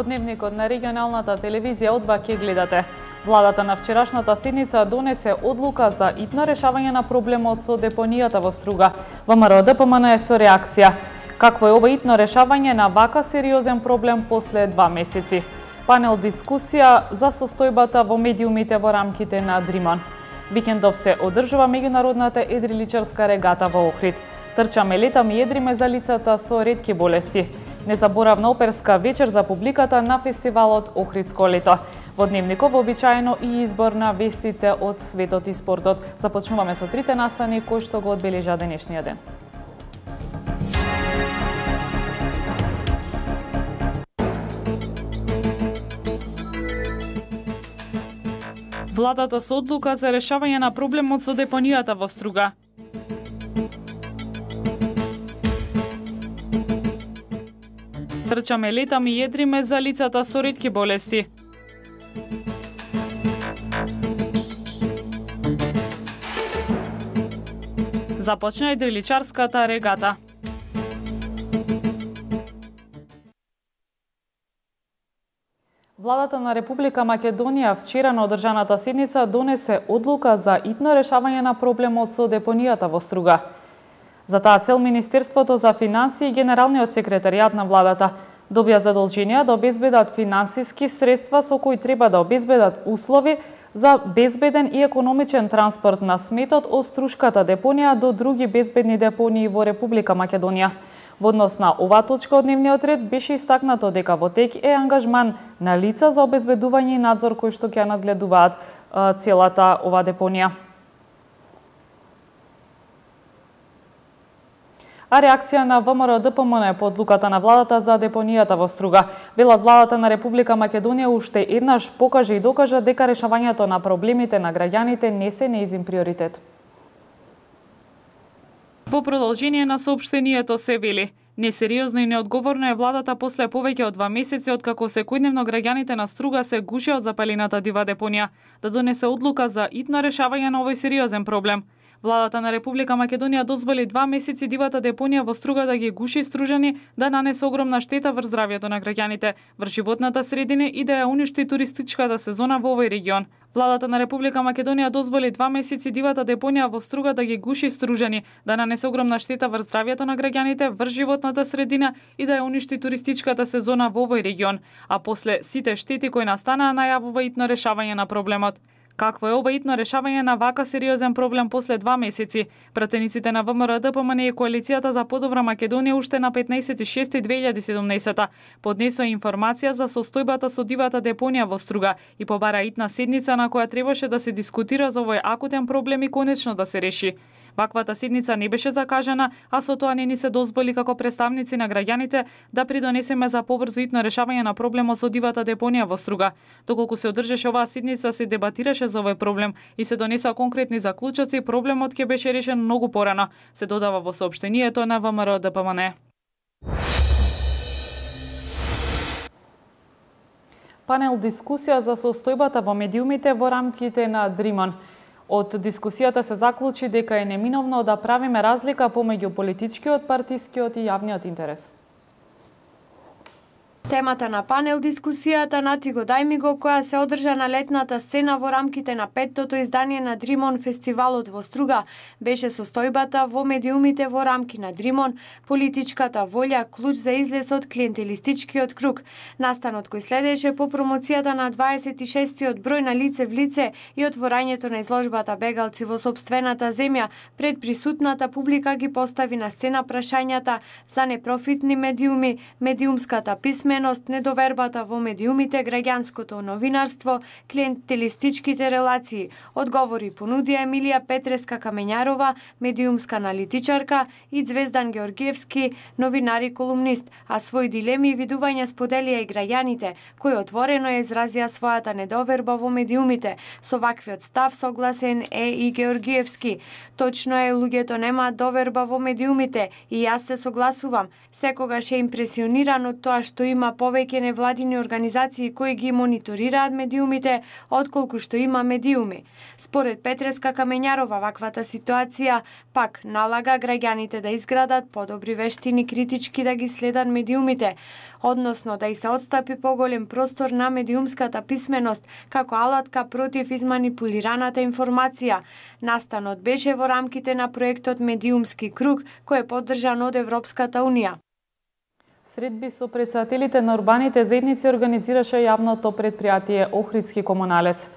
Во дневникот на регионалната телевизија одба ќе гледате. Владата на вчерашната седница донесе одлука за итно решавање на проблемот со депонијата во Струга. ВМРО ДПМН е со реакција. Какво е ова итно решавање на вака сериозен проблем после 2 месеци? Панел дискусија за состојбата во медиумите во рамките на Дримон. Викендов се одржува меѓународната едриличарска регата во Охрид. Трчаме, летаме и едриме за лицата со ретки болести. Незаборавна оперска вечер за публиката на фестивалот Охридско лето. Во дневникот вообичаено и избор на вестите од светот и спортот. Започнуваме со трите настани кои што го одбележа денешниот ден. Владата со одлука за решавање на проблемот со депонијата во Струга. Трчаме, летаме и едриме за лицата со ретки болести. Започна едриличарската регата. Владата на Република Македонија вчера на одржаната седница донесе одлука за итно решавање на проблемот со депонијата во Струга. За таа цел Министерството за финансии и Генералниот секретаријат на владата добија задолженија да обезбедат финансиски средства со кои треба да обезбедат услови за безбеден и економичен транспорт на сметот од Струшката депонија до други безбедни депонии во Република Македонија. Во однос на оваа точка од дневниот ред беше истакнато дека во тек е ангажман на лица за обезбедување и надзор кои што ќе надгледуваат целата оваа депонија. А реакција на ВМРО ДПМН по одлуката на владата за депонијата во Струга. Велат владата на Република Македонија уште еднаш покажа и докажа дека решавањето на проблемите на граѓаните не се нејзин приоритет. Во продолжение на соопштението се вели: несериозно и неодговорно е владата после повеќе од 2 месеци откако секојдневно граѓаните на Струга се гуше од запалената дива депонија, да донесе одлука за итно решавање на овој сериозен проблем. Владата на Република Македонија дозволи 2 месеци дивата депонија во Струга да ги гуши стружани, да нанесе огромна штета врз здравјето на граѓаните, врз животната средина и да ја уништи туристичката сезона во овој регион. Владата на Република Македонија дозволи 2 месеци дивата депонија во Струга да ги гуши стружани, да нанесе огромна штета врз здравјето на граѓаните, врз животната средина и да ја уништи туристичката сезона во овој регион, а после сите штети кои настанаа најавува итно решавање на проблемот. Какво е ова итно решавање на вака сериозен проблем после 2 месеци? Пратениците на ВМРО ДПМН и Коалицијата за подобра Македонија уште на 15.6.2017 поднесоа информација за состојбата со дивата депонија во Струга и побара итна седница на која требаше да се дискутира за овој акутен проблем и конечно да се реши. Ваквата седница не беше закажана, а со тоа не ни се дозволи како представници на граѓаните да придонесеме за побрзо итно решавање на проблемот со дивата депонија во Струга. Доколку се одржеше оваа седница, се дебатираше за овој проблем и се донесоа конкретни заклучоци, проблемот ќе беше решен многу порано, се додава во соопштението на ВМРО ДПМН. Панел дискусија за состојбата во медиумите во рамките на Дримон. Од дискусијата се заклучи дека е неминовно да правиме разлика помеѓу политичкиот, партискиот и јавниот интерес. Темата на панел дискусијата на Ти го дај ми го, која се одржа на летната сцена во рамките на 5-тото издание на Дримон фестивалот во Струга, беше состојбата во медиумите во рамки на Дримон, политичката волја, клуч за излез од клиентелистичкиот круг. Настанот кој следеше по промоцијата на 26-тиот број на Лице в лице и отворањето на изложбата Бегалци во сопствената земја, пред присутната публика ги постави на сцена прашањата за непрофитни медиуми, медиумската писменост, недовербата во медиумите, граѓанското новинарство, клиентелистичките релации. Одговори понудија Емилија Петреска Камењарова, медиумска аналитичарка, и Звездан Георгиевски, новинар и колумнист, а своји дилеми и видувања споделија и граѓаните, кои отворено ја изразија својата недоверба во медиумите. Со ваквиот став согласен е и Георгиевски. Точно е, луѓето немаат доверба во медиумите и јас се согласувам. Секогаш е импресиониран од тоа што има има повеќе невладини организации кои ги мониторираат медиумите, отколку што има медиуми. Според Петреска Камењарова, ваквата ситуација пак налага граѓаните да изградат подобри вештини критички да ги следат медиумите, односно да и се отстапи поголем простор на медиумската писменост како алатка против изманипулираната информација. Настанот беше во рамките на проектот Медиумски круг, кој е поддржан од Европската унија. Средби со претседателите на урбаните заедници организираше јавното предпријатие Охридски комуналец.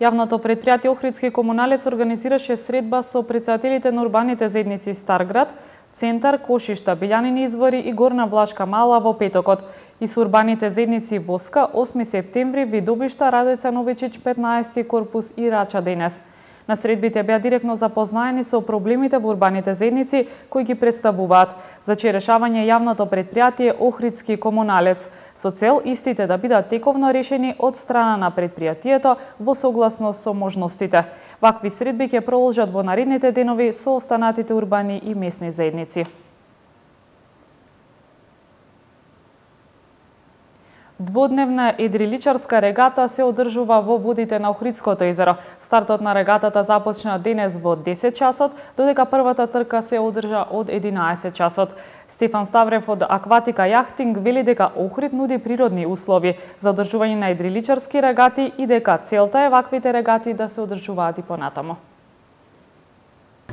Јавното предпријатие Охридски комуналец организираше средба со претседателите на урбаните заедници Старград, Центар, Кошишта, Билјанини извори и Горна Влашка мала во петокот и со урбаните заедници Воска 8 септември, Видобишта, Радојца Новичич 15 корпус и Рача денес. На средбите беа директно запознаени со проблемите во урбаните заедници кои ги представуваат, за чие решавање јавното предпријатие Охридски комуналец, со цел истите да бидат тековно решени од страна на предпријатието во согласност со можностите. Вакви средби ќе продолжат во наредните денови со останатите урбани и местни заедници. Дводневна едриличарска регата се одржува во водите на Охридското езеро. Стартот на регатата започна денес во 10 часот, додека првата трка се одржа од 11 часот. Стефан Ставрев од Акватика Јахтинг вели дека Охрид нуди природни услови за одржување на едриличарски регати и дека целта е ваквите регати да се одржуваат и понатаму.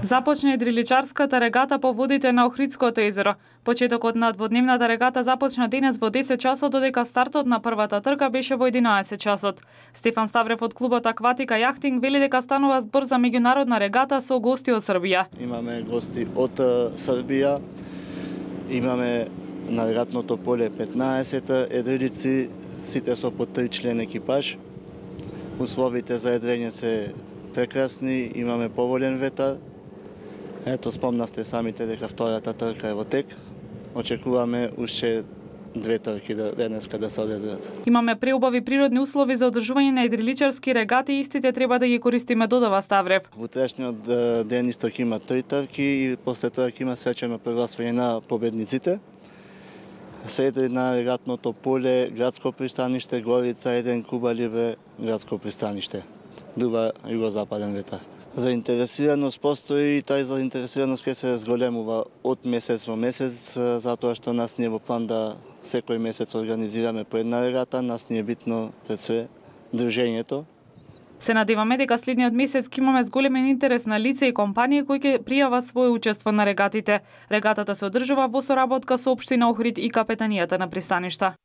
Започна едриличарската регата по водите на Охридското езеро. Почетокот на дводневната регата започна денес во 10 часот, додека стартот на првата трка беше во 11 часот. Стефан Ставрев од клубот Акватика Јахтинг вели дека станува збор за меѓународна регата со гости од Србија. Имаме гости од Србија, имаме на регатното поле 15 едрилици, сите со по 3 член екипаж. Условите за едрење се прекрасни, имаме поволен ветар. Ето, спомнавте самите дека втората трка е во тек. Очекуваме уште 2 трки денеска да се одедрат. Имаме преубави природни услови за одржување на едриличарски регати и истите треба да ги користиме, додава Ставрев. Во утрешниот ден исто има 3 трки и после тоа има свечено прогласување на победниците. Сред на регатното поле, градско пристаниште, Горица 1, Куба Либре, градско пристаниште. Дува југозападен ветар. Заинтересираност постои и тај заинтересираност ќе се зголемува од месец во месец, затоа што нас не е во план да секој месец организираме по една регата, нас не е битно пред све дружењето. Се надеваме дека следниот месец ќе имаме зголемен интерес на лица и компании кои ќе пријават своје учество на регатите. Регатата се одржува во соработка со општина Охрид и капетанијата на пристаништа.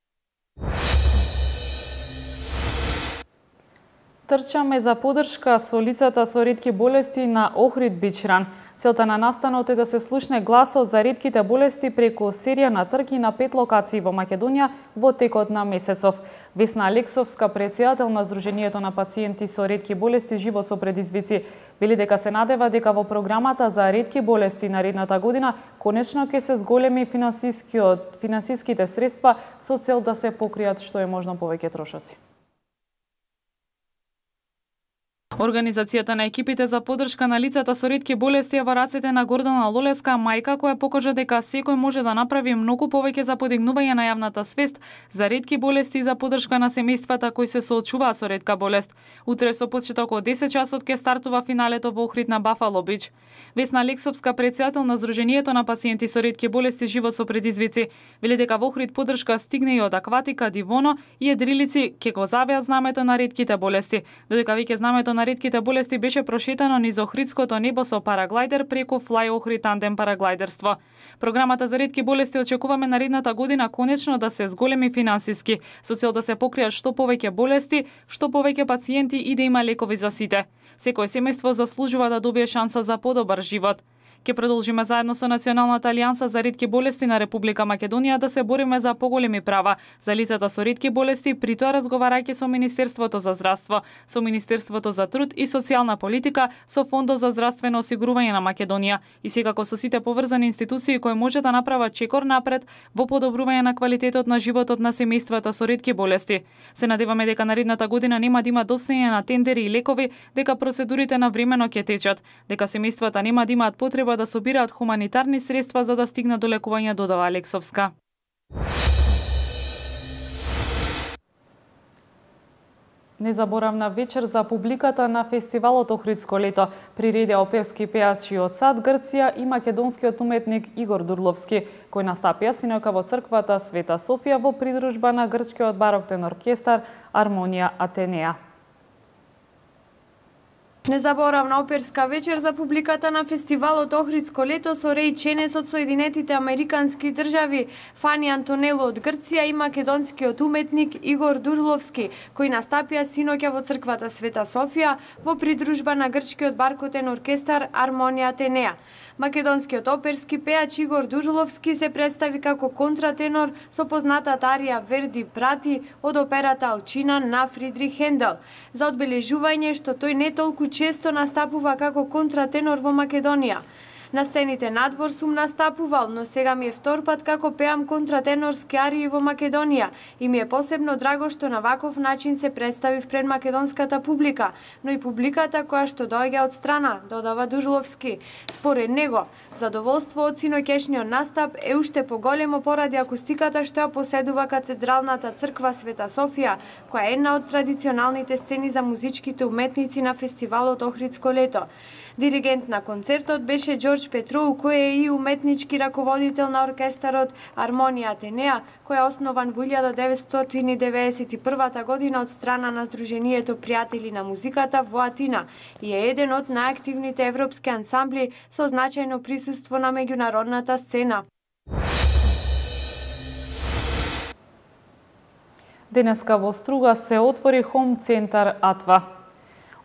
Трчаме за подршка со лицата со ретки болести на Охрид Бичран. Целта на настанот е да се слушне гласот за ретките болести преку серија на трки на 5 локации во Македонија во текот на месецов. Весна Алексовска, претседател на Сдруженијето на пациенти со ретки болести Живот со предизвици, вели дека се надева дека во програмата за ретки болести наредната година конечно ќе се зголеми финансиските средства со цел да се покријат што е можно повеќе трошоци. Организацијата на екипите за поддршка на лицата со ретки болести е во рацете на Гордана Лолеска, мајка која покажа дека секој може да направи многу повеќе за подигнување на јавната свест за ретки болести и за поддршка на семејствата кои се соочуваат со ретка болест. Утре со почеток од 10 часот ќе стартува финалето во Охрид на Бафало Бич. Весна Алексовска, претседател на Сдруженијето на пациенти со ретки болести Живот со предизвици, вели дека во Охрид поддршка стигне и од Акватика, Дивоно и едрилици ќе го завеат знамето на ретките болести, додека веќе знамето на ретките болести беше прошетано низ Охридското небо со параглайдер преку Fly Охрид тандем параглайдерство. Програмата за ретки болести очекуваме наредната година конечно да се зголеми финансиски, со цел да се покријат што повеќе болести, што повеќе пациенти и да има лекови за сите. Секој семејство заслужува да добие шанса за подобар живот. Ке продолжиме заедно со Националната алијанса за ретки болести на Република Македонија да се бориме за поголеми права за лицата со ретки болести, при тоа разговарајќи со Министерството за здравство, со Министерството за труд и социјална политика, со Фондот за здравствено осигурување на Македонија и секако со сите поврзани институции кои може да направат чекор напред во подобрување на квалитетот на животот на семејствата со ретки болести. Се надеваме дека наредната година нема да има доцнење на тендери и лекови, дека процедурите навремено ќе течат, дека семејствата нема да имаат потреба да собираат хуманитарни средства за да стигнат до лекување, додава Алексовска. Незаборавна вечер за публиката на фестивалот Охридско лето приредија оперски пејачи од САД, Грција и македонскиот уметник Игор Дурловски, кој настапија синојка во црквата Света Софија во придружба на грчкиот бароктен оркестар Армонија Атенеа. Незаборавна оперска вечер за публиката на фестивалот Охридско лето со Реј Ченес од Соединетите Американски држави, Фани Антонело од Грција и македонскиот уметник Игор Дурловски, кои настапија синоќа во црквата Света Софија во придружба на грчкиот баркотен оркестар Армонија Атенеа. Македонскиот оперски пејач Игор Дурловски се представи како контратенор со познатата арија Верди Прати од операта Алчина на Фридрих Хендел, за одбележување што тој не толку често настапува како контратенор во Македонија. На сцените надвор сум настапувал, но сега ми е втор пат како пеам контратенорски арии во Македонија и ми е посебно драго што на ваков начин се представив пред македонската публика, но и публиката која што доаѓа од страна, додава Дурловски. Според него, задоволство од синоќешниот настап е уште поголемо поради акустиката што ја поседува катедралната црква Света Софија, која е една од традиционалните сцени за музичките уметници на фестивалот Охридско лето. Диригент на концертот беше Ѓорџ Петроу, кој е и уметнички раководител на оркестарот Армонија Атенеа, кој е основан во 1991 година од страна на Сдруженијето пријатели на музиката во Атина и е еден од најактивните европски ансамбли со значајно присуство на меѓународната сцена. Денеска во Струга се отвори Хом центар Атва.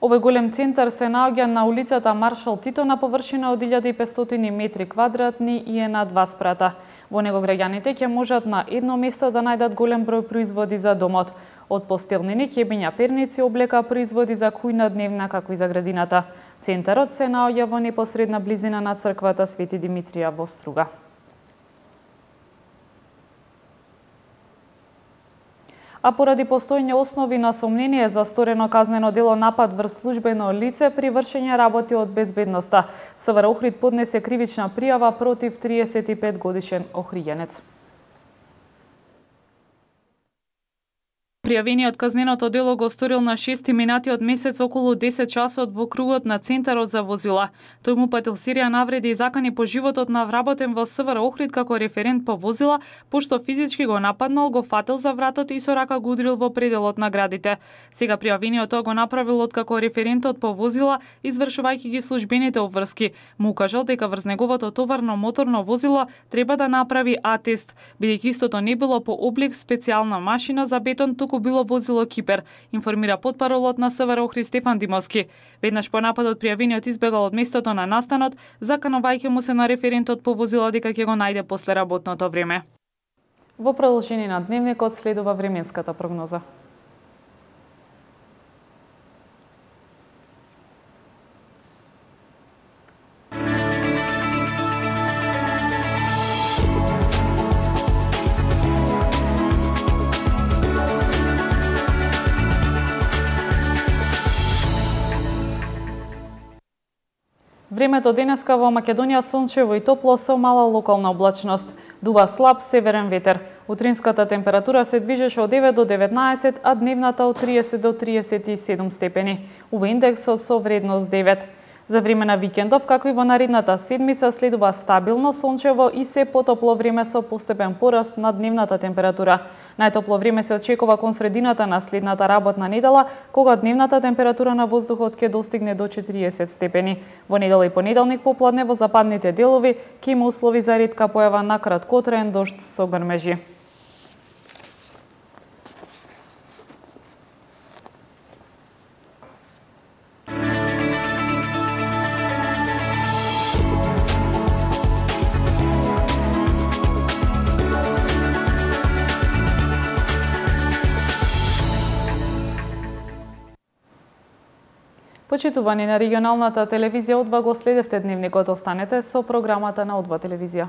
Овој голем центар се наоѓа на улицата Маршал Тито на површина од 1500 метри квадратни и е на 2 спрата. Во него граѓаните ќе можат на едно место да најдат голем број производи за домот, од постелнини, ќебиња, перници, облека, производи за кујна дневна, како и за градината. Центарот се наоѓа во непосредна близина на црквата Свети Димитрија во Струга. А поради постојање основи на сомнение за сторено казнено дело напад врз службено лице при вршење работи од безбедноста, СВР Охрид поднесе кривична пријава против 35 годишен охријенец. Пријавениот казненото дело го сторил на 6 минатиот месец околу 10 часот во кругот на центарот за возила. Тој му патил серија навреди и закани по животот на вработен во СВР Охрид како референт по возила, пошто физички го нападнал, го фатил за вратот и со рака го удрил во пределот на градите. Сега пријавениот тоа го направил откако референтот по возила, извршувајќи ги службените обврски, му укажал дека врз неговото товарно моторно возило треба да направи А-тест, бидејќи истото не било по облик специјална машина за бетон, туку било возило Кипер, информира потпаролот на СВР Охрид Стефан Димовски. Веднаш по нападот пријавениот избегал од местото на настанот, заканувајќи му се на референтот по возило дека ќе го најде после работното време. Во продолжение на дневникот следува временската прогноза. Времето денеска во Македонија сончево и топло со мала локална облачност. Дува слаб северен ветер. Утринската температура се движеше од 9 до 19, а дневната од 30 до 37 степени. УВ индексот со вредност 9. За време на викендов, како и во наредната седмица, следува стабилно сончево и се потопло време со постепен пораст на дневната температура. Најтопло време се очекува кон средината на следната работна недела, кога дневната температура на воздухот ќе достигне до 40 степени. Во недела и понеделник попладне во западните делови ќе има услови за ретка појава на краткотраен дожд со грмежи. Почитувани на регионалната телевизија Одва, го следевте дневникот, останете со програмата на Одва телевизија.